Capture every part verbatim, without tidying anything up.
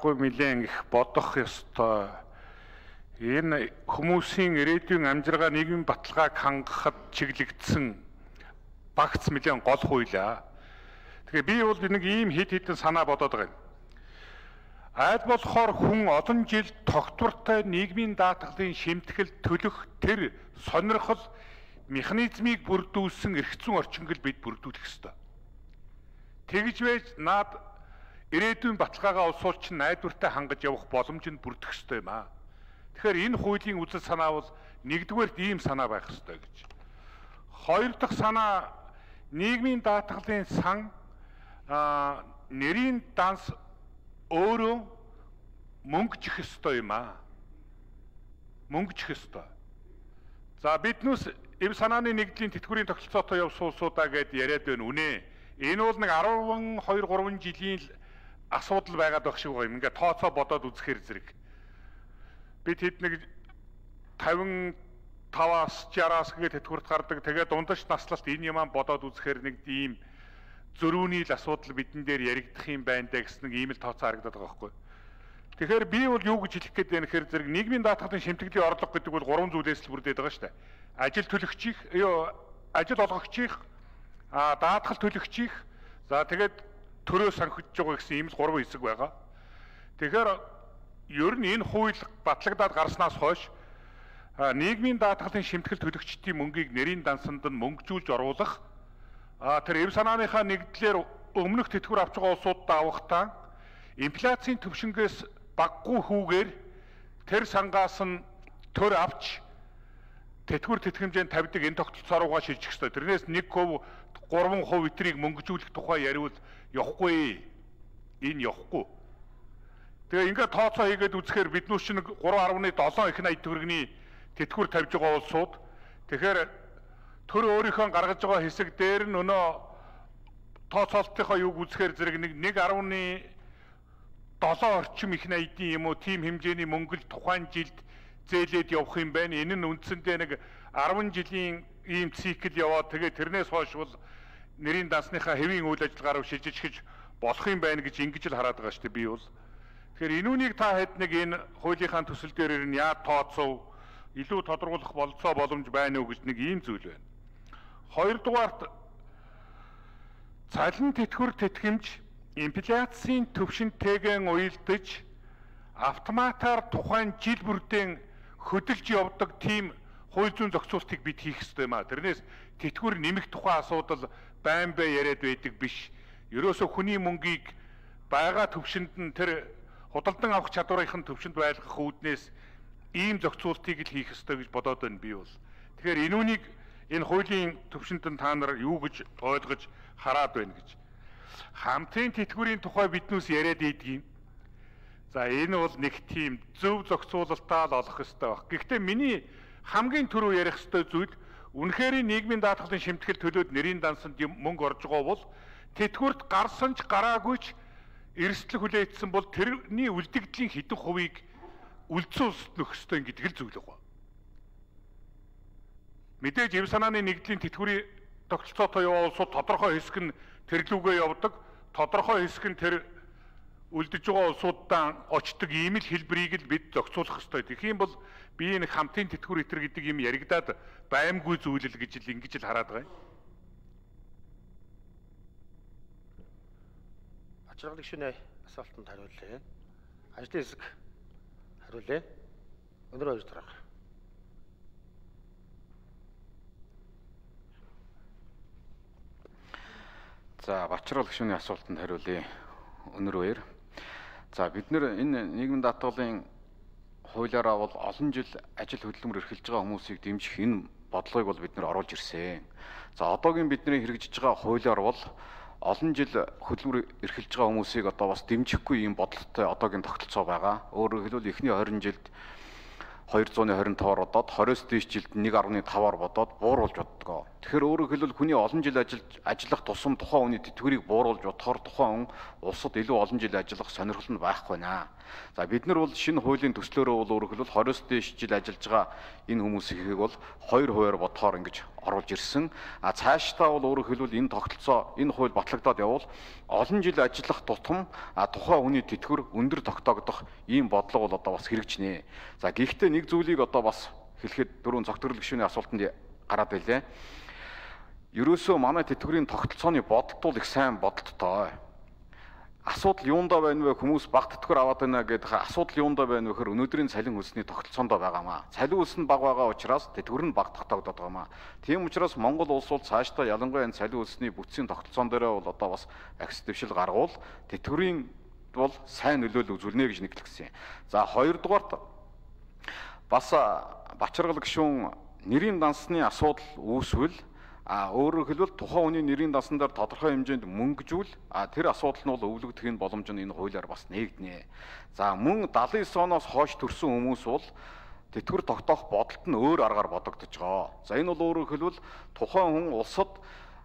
аргагүй нэлээд их бодох ёстой. Энэ хүмүүсийн ирээдүйн амжиргаа нийгмийн баталгааг хангахад чиглэгдсэн багц нэлээд гол хуулиа. Тэгэхээр би бол нэг ийм хэд хэдэн санаа бодоод байгаа юм. Аль болохоор хүн олон жил тогтвортой нийгмийн даатгалын шимтгэл төлөх тэр сонирхол механизмыг бүрдүүлсэн эрх зүйн орчингөл бид бүрдүүлэх ёстой. Тэгж байж наад ирээдүйн баталгаагаа улсуулч найдвартай хангаж явах боломж нь бүрдэх ёстой юм аа. Тэгэхээр энэ хуулийн үзэл санаа бол нэгдүгээрт ийм санаа байх ёстой гэж. Хоёр дахь санаа нийгмийн даатгалын сан а нэрийн данс өөрөө мөнгөжих ёстой юм аа. Мөнгөжих ёстой. За биднээс эв санааны нэгдлийн тэтгэврийн тогтолцоотой явсан улсуудаа гэд яриад байна үнэ. Энэ бол нэг арван хоёр гурван жилийн асуудал байгаад байх шиг байгаа юм. Ингээ тооцоо бодоод үзэхээр зэрэг. Бид хэд нэг тавин таваас жараас гээд тэтгэврт гардаг. Тэгээд дундаж наслалт энэ юмаа бодоод үзэхээр нэг ийм зөрүүний л асуудал бидэн дээр яригдах юм байна даа гэсэн нэг ийм л тооцоо харагдаад байгаа байхгүй. Тэгэхээр би бол юу гэж хэлэх гээд байна гэхээр зэрэг нийгмийн даатгалын шимтгэлийн орлого гэдэг бол гурван зүйлээс л бүрдээд байгаа шүү дээ. Ажил төлөгчийн, ёо ажил олгогчийн, а даатгал төлөгчийн, за тэгээд төрөө санхиж байгаа гэсэн ийм л гурван хэсэг байгаа. Тэгэхээр ер нь энэ хууль батлагдаад гарснаас хойш нийгмийн даатгалын шимтгэл төлөгчдийн мөнгийг нэрийн дансанд нь мөнгөжүүлж оруулах а тэр эв санааныхаа нэгдлэр өмнөх тэтгэвэр авч байгаа улсуудаа авахтаа инфляцийн төвшингээс баггүй хүүгээр тэр сангаас нь төр авч тэтгэвэр тэтгэмжээнд тавьдаг энэ тогтолцоо руугаа шилжих ёстой. Тэрнээс нэг хувь гурван хувь этрийг мөнгөжүүлэх тухай яриул явахгүй. Энэ явахгүй. Тэгээ ингээд тооцоо хийгээд үзэхээр биднүүс чинь гурван арван долоо их найд төгрөгийн тэтгэвэр тавьж байгаа улсууд тэгэхээр төр өөрийнхөө гаргаж байгаа хэсэг дээр нь өнөө тооцоолтынхаа юуг үзэхээр зэрэг нэг нэг арван долоо орчим их найдын юм уу тийм хэмжээний мөнгө л тухайн жилд зээлээд явах юм байна. Энэ нь үндсэндээ нэг арван жилийн ийм цикл яваад тэгээ тэрнээс хойш бол нэрийн дансныхаа хэвийн үйл ажиллагаа руу шилжиж болох юм байна гэж ингэж л хараад байгаа шүү дээ би бол. Тэгэхээр энүүнийг та хэд нэг энэ хуулийнхаа төсөл дээр нь яа тооцов илүү тодорхойлох болцоо боломж байна уу гэж нэг ийм зүйл байна. Хоёрдугаарт цалин тэтгэвэр тэтгэмж инфляцийн төвшинтэйгэн уялдаж автоматар тухайн жил бүрдээ хөдөлж явдаг тийм хууль зүйн зохицуултыг бид хийх ёстой юм а. Тэрнээс тэтгэвэр нэмэх тухай асуудал байн бай яриад байдаг биш. Ерөөсө хүний мөнгийг байгаа төвшөнд нь тэр худалдан авах чадварынхын төвшөнд байлгах үүднээс ийм зохицуултыг л хийх ёстой гэж бодоод байна би бол. Тэгэхээр энүүнийг энэ хуулийн төвшөнд нь та нар юу гэж ойлгож хараад байна гэж. Хамтын тэтгэврийн тухай биднээс яриад ийдгийм. За энэ бол нэг тийм зөв зохицуулалтаа л олох ёстой баг. Гэхдээ миний хамгийн түрүү ярих ёстой зүйл үнэхээр нийгмийн даатгалын шимтгэл төлөөд нэрийн дансанд мөнгө орж байгаа бол тэтгэврт гарсан ч гараагүйч эрсдэл хүлээсэн бол тэрний үлдэгдлийн хэдэн хувийг үлдсэн улсад нөх ёстой гэдэг л зүйл байгаа. Мэдээж эв санааны нэгдлийн тэтгэврийн тогтолцоотой яваа улсууд тодорхой хэсэг нь тэрлүүгээ явдаг, тодорхой хэсэг нь тэр үлдэж байгаа улсуудаа очдог ийм л хэлбэрийг л бид зохицуулах ёстой. Тэгэх юм бол би энэ хамтын тэтгэвэр итэр гэдэг юм яригадаад баймгүй зүйл л гэж л ингэж л хараад байгаа юм. Ачаалал гишүүний асуултанд хариулъя. Ажлын хэсэг хариулъя. Өнөр хоёр дарга. За Бачрал гишүүний асуултанд хариулъя. Өнөр хоёр. За бид нэр энэ нийгмийн даатгалын хуулиараа бол олон жил ажил хөдөлмөр эрхэлж байгаа хүмүүсийг дэмжих энэ бодлогыг бол бид нэр оруулж ирсэн. За одоогийн бидний хэрэгжиж байгаа хуулиар бол олон жил хөдөлмөр эрхэлж байгаа хүмүүсийг одоо бас дэмжихгүй ийм бодлоготой одоогийн тогтолцоо байгаа. Өөрөөр хэлбэл эхний хорин жилд хоёр зуун хорин таваар бодоод двадцать дээш жилд нэг гаруй таваар бодоод бууруулж боддгоо. Тэгэхээр өөрөөр хэлбэл хүний олон жил ажиллаж ажиллах тусам тухайн хүний тэтгэврийг бууруулж бодохоор тухайн хүн улсад илүү олон жил ажиллах сонирхол нь байхгүй наа. За бид нар бол шинэ хуулийн төслөөрөө бол өөрөөр хэлбэл двадцать дээш жил ажиллаж байгаа энэ хүмүүсийг бол хоёр хувиар бодохоор ингэж оруулж ирсэн. А цаашдаа бол өөрөөр хэлбэл энэ тогтолцоо энэ хууль батлагдаад явбал олон жил ажиллах тутам а тухайн хүний тэтгэвэр өндөр тогтоогдох ийм бодлого бол одоо бас хэрэгжнэ. За гэхдээ нэг зүйлийг одоо бас хэлэхэд дөрөв цогцлол гишүүний асуултанд гараад байлээ. Ерөөсөө манай тэтгэврийн тогтолцооны бодолтол их сайн бодолттой. Асуудал юундаа байна вэ? Хүмүүс баг тэтгэвэр аваад байна гэдэг асуудал юундаа байна вэ гэхээр өнөөдрийн цалин хөлсний тогтолцоондоо байгаамаа. Цалин хөлс нь бага байгаа учраас тэтгэвэр нь баг тогтоогдоод байгаамаа. Тийм учраас Монгол улс бол цаашдаа ялангуяа энэ цалин хөлсний бүтцийн тогтолцоон дээр бол одоо бас агс дэвшил гаргуул тэтгэврийн бол сайн нөлөөлөл үзүүлнэ гэж нэглэсэн юм. За хоёрдугаарт бас Бачаргал гишүүн нэрийн дансны асуудал үүсвэл а өөрөөр хэлбэл тухайн хүний нэрийн дасан дээр тодорхой хэмжээнд мөнгөжүүл а тэр асуудал нь бол өвлөгдөх боломж нь энэ хуулиар бас нээгднэ. За мөн далайн девять оноос хойш төрсэн хүмүүс бол тэтгэвэр тогтоох бодолт нь өөр аргаар бодогдож байгаа. За энэ бол өөрөөр хэлбэл тухайн хүн улсад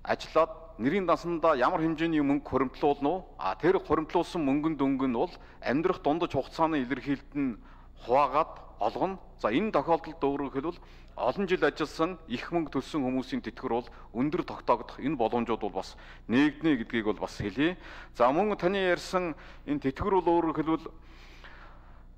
ажиллаад нэрийн дансандаа ямар хэмжээний мөнгө хуримтлуулна уу? А тэр хуримтлуулсан мөнгөнд өнгө нь бол амьдрах дундаж хугацааны илэрхийлэлт нь хуваагаад олгоно. За энэ тохиолдолд өөрөөр хэлбэл олон жил ажилласан их мөнгө төлсөн хүмүүсийн тэтгэвэр бол өндөр тогтоогдох энэ боломжууд бол бас нээгднэ гэдгийг бол бас хэлье. За мөн таны ярьсан энэ тэтгэвэр бол өөрөөр хэлбэл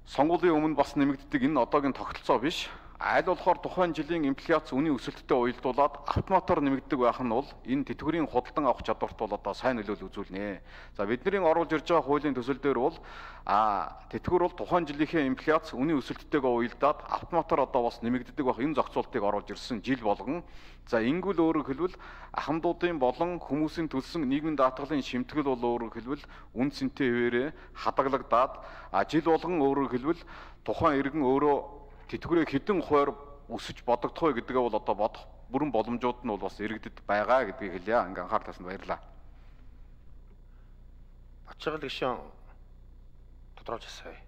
сонгуулийн өмнө бас нэмэгддэг энэ одоогийн тогтолцоо биш. Аль болохоор тухайн жилийн инфляц үнийн өсөлттэй уялдуулаад автоматар нэмэгддэг байх нь бол энэ тэтгэврийн худалдан авах чадварт бол одоо сайн нөлөөлөл үзүүлнэ. За бидний оруулж ирж байгаа хуулийн төсөл дээр бол а тэтгэвэр бол тухайн жилийнхээ инфляц үнийн өсөлттэйгээ уялдаад автоматар одоо бас нэмэгддэг байх энэ зохицуултыг оруулж ирсэн жил болгон. За ингүүл өөрөөр хэлбэл ахмадуудын болон хүмүүсийн төлсөн нийгмийн даатгалын шимтгэл бол өөрөөр хэлбэл үн цэнтэй хэвээрээ хадгалагдаад а жил болгон өөрөөр хэлбэл тухайн иргэн өөрөө тэтгэврээ хэдэн хувиар өсөж бодогдох вэ гэдгээ бол одоо бодох бүрэн боломжууд нь бол бас иргэдэд байгаа гэдгийг хэлье. Ингээ анхаарал татсанд баярлалаа. Бачаргал гишүүн тодорхойлж асууя.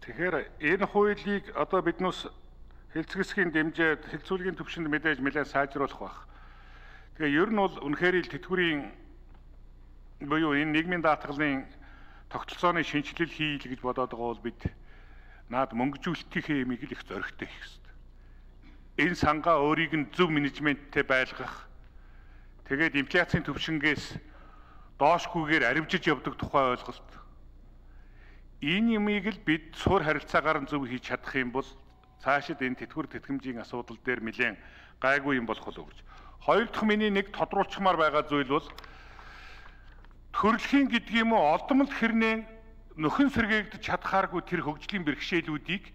Тэгэхээр энэ хуулийг одоо биднээс хэлцгэсгийн дэмжээд хэлцүүлгийн төвшөнд мэдээж нэлээд сайжруулах байх. Тэгээ ер нь бол үнэхээр л тэтгэврийн буюу энэ нийгмийн даатгалын тогтолцооны шинжилэл хийл гэж бодоод байгаа бол бид наад мөнгөжүүлэлтийн хэмийг л их зоригтой хийх хэрэгтэй. Энэ сангаа өөрийг нь зөв менежменттэй байлгах, тэгээд инфляцийн төвшингээс доошгүйгээр аривжиж явдаг тухай ойлголт. Энэ юмыг л бид суурь харилцаагаар нь зөв хийж чадах юм бол цаашид энэ тэтгэвэр тэтгэмжийн асуудал дээр нэлээд гайгүй юм болох болов гэж. Хоёр дахь миний нэг тодруулчмаар байгаа зүйл бол төрөлхийн гэдэг юм уу олдмол хэрнээ нөхөн сэргээгдэж чадхааргүй тэр хөгжлийн бэрхшээлүүдийг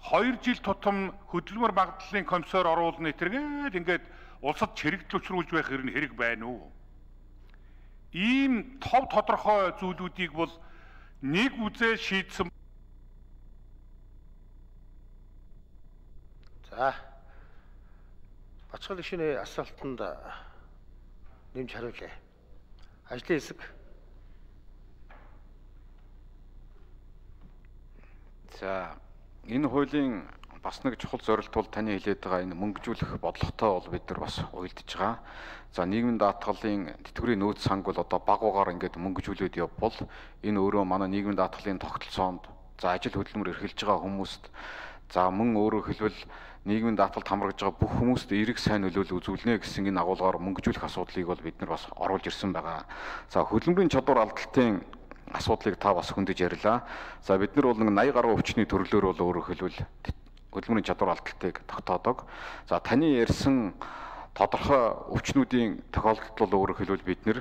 хоёр жил тутам хөдөлмөр багдлалын комиссар оруулна тэргээд ингээд улсад чирэгдэл учруулж байх хэрэг хэрэг байна уу? Ийм тов тодорхой зүйлүүдийг бол нэг үзээ шийдсэн. За. Бачаргал гишүүний асуултанд нэмж хариулъя. Ажлын хэсэг. За энэ хуулийн бас нэг чухал зорилт бол таны хэлээд байгаа энэ мөнгөжүүлэх бодлоготой бол бид нар бас уялдаж байгаа. За нийгмийн даатгалын тэтгэврийн нөөц санг бол одоо баг угаар ингээд мөнгөжүүлээд явбал энэ өөрөө манай нийгмийн даатгалын тогтолцоонд за ажил хөдөлмөр эрхэлж байгаа хүмүүст за мөн өөрөөр хэлбэл нийгмийн даатгалд хамрагдж байгаа бүх хүмүүст эерэг сайн нөлөөлөл үзүүлнэ гэсэн энэ агуулгаар мөнгөжүүлэх асуудлыг бол бид нар бас оруулж ирсэн байгаа. За хөдөлмөрийн чадвар алдалтын асуудлыг та бас хөндөж ярьлаа. За бид нар бол нэг eighty гаруй өвчний төрлөөр бол өөрөөр хэлбэл хөдөлмөрийн чадвар алдалтыг тогтоодог. За таны ярьсан тодорхой өвчнүүдийн тохиолдолд бол өөрөөр хэлбэл бид нэр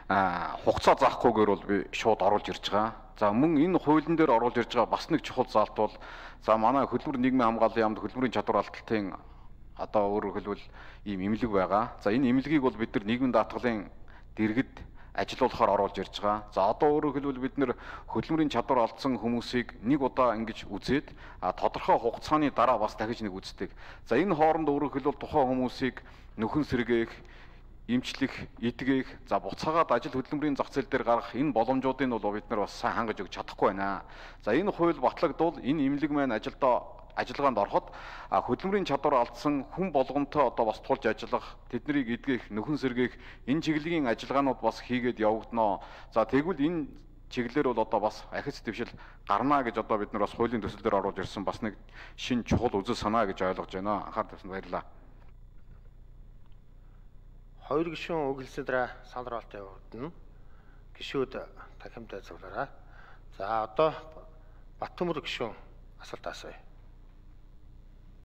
а хугацаа заахгүйгээр бол би шууд оруулж ирж байгаа. За мөн энэ хуулийн дээр оруулж ирж байгаа бас нэг чухал заалт бол за манай хөдөлмөр нийгмийн хамгааллын яамд хөдөлмөрийн чадвар алдалтын одоо өөрөөр хэлбэл ийм эмнэлэг байгаа. За энэ эмнэлгийг бол бид нар нийгмийн даатгалын дэргэд ажилуулахаар оруулж ирж байгаа. За одоо өөрөөр хэлбэл бид нэр хөдөлмөрийн чадвар алдсан хүмүүсийг нэг удаа ингэж үзээд а тодорхой хугацааны дараа бас дахиж нэг үздэг. За энэ хооронд өөрөөр хэлбэл тухайн хүмүүсийг нөхөн сэргээх эмчлэх, эдгэх, за буцаагаад ажил хөдөлмөрийн зах зээл дээр гаргах энэ боломжуудыг бол бид нар бас сайн хангаж өгч чадахгүй байна. За энэ хууль батлагдвал энэ имлэг маань ажилдаа ажиллагаанд ороход хөдөлмөрийн чадвар алдсан хүн болгонтой одоо бас тулж ажиллах, тэднийг эдгэх, нөхөн сэргээх энэ чиглэлийн ажиллагаанууд бас хийгээд явагдана. За тэгвэл энэ чиглэлээр бол одоо бас ахиц дэвшил гарна гэж одоо бид нар бас хуулийн төсөл дээр оруулж ирсэн бас нэг шин чухал үзэл санаа гэж ойлгож байна. Анхаарал тавьсанд баярлалаа. Хоёр гишүүн үгэлсэн дараа санал хураалт явагдана. Гишүүд дахимдаа зөвлөрөө. За одоо Баттөмөр гишүүн асуулт асууя.